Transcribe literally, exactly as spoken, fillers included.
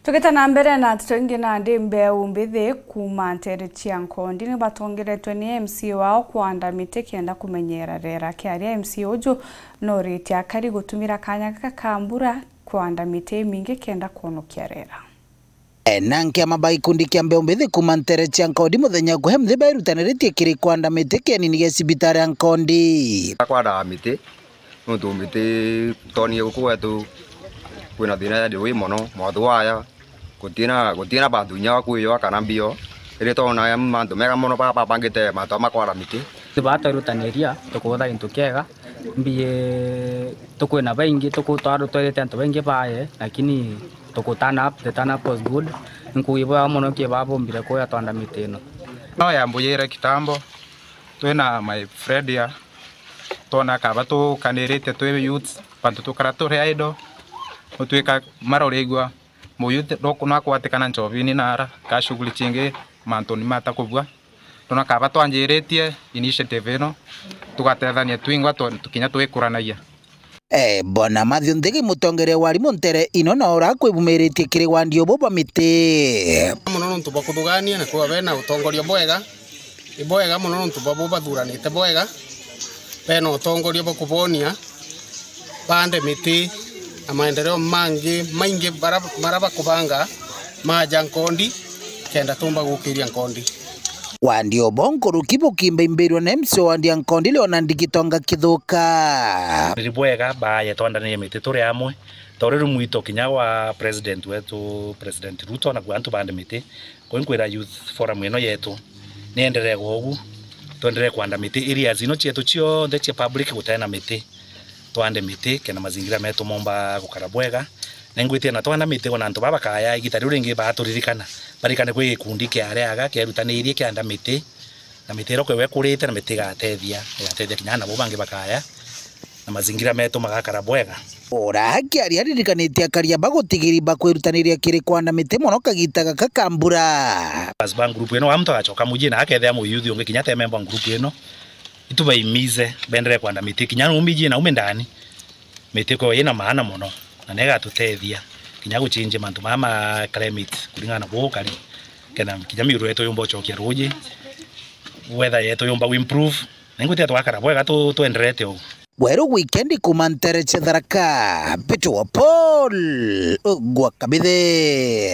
Tugita na mbere na nteto ingi, nandi mbeu mbithi kuuma nteere cia Nkondi ni batongeretwe ni M C A wao kwanda miti kenda kumenyera rera. Kiaria M C A uju noritie akari gutumira kanya gaka ka mbura kwanda miti imingi kenda kwonokia rera. E, na nkiama ba gikundi kia mbeu mbithi kuuma nteere cia Nkondi muthenya ukuhe mthi bairutaniritie kiri kwanda miti kienini gia cibitari ya Nkondi. Kwanda miti, nontu miti twonie guku gwetu kwina thina ya ndiwi mono, mothu waya, gutina, gutina bantu inya wa kwiywa kana mbio, iri twona mantu mega mono ba-, babangite mantu ama kwara miti. Batwirutaniria tukutha gintu kiega, mbiye tukwina baingi, tuku-, twarutwirite antu baingi baye, lakini tuku turn up, the turn up was good. Nkuugi bwega mono ki babombire kuya twanda miti ino. No yambuyire kitambo, twina my friend ya, twona kaba tukanirite twi youths, bantu tukara turi idle, gutwika marorigua, mu youth no, no akwatikana njobini nara, ka shughuli cingi, mantuni matakubua. Twona kaba twanjiritie initiative ino, tugatethania twingwa twe-, tukinya twikuranagia. E, Bwana Matthew Nthigi, mutongeria wa arimu nteere ino, na ura kwibumiritie kiri wandi ubu bwa miti. Mono nontu bwa kuthugania na kuba bena utongoria bwega, ibwega mono nontu bwa bo bathuranite bwega, bena utongoria bwa kubonia bande miti na maendeleo mangi maingi bara, bara bakubanga maja Nkondi, kenda tumba gukiria Nkondi. Wandi ubu nkuruki bukimbaimbirwa na M C A wandi ya Nkondi Leonard Gitonga Kithuka. Ni bwega baye twandanire miti turi amwe, ta uri rumwito kinya wa president wetu, President Ruto, na kwa antu bande miti. Kwi nkwira youth forum ino yetu nienderee gwa ugu, twenderee kwanda miti areas ino cietu cionthe cia public gutena miti. Twande miti kenda mazingira metu momba gukara bwega. Na ingwitia na twanda miti ona antu baba bakaya igita riu ringi baturirikana, barikane kwi gikundi kiareaga kierutanirie kianda miti, na miti iria kwewe ikurite na miti igatethia, igatethia kinya nabo bangi bakaya na mazingira metu magakara bwega. Ura akiaria aririkanitie akaria ba gutigiri ba kwirutaniria kiri kwanda miti mono kagita gaka ka mbura. As ba group ino, wa muntu agacoka muji na akethia muyuthi ungi kinya te member wa group ino, itubaimize bendere kwanda miti kinya numiji na ume ndani. Miti ko ina maana mono na negatutethia kinya guchinjia mantu maya ma climate kuringana na buu kari, kenda kinya miuru yetu yumba ucokia ruji, weather yetu yumba gu improve. Na ingwitia twakara bwega tu-, twenderete uu. Weru Weekend kuuma ntere cia Tharaka, Peter wa Paul gwa Kabithi.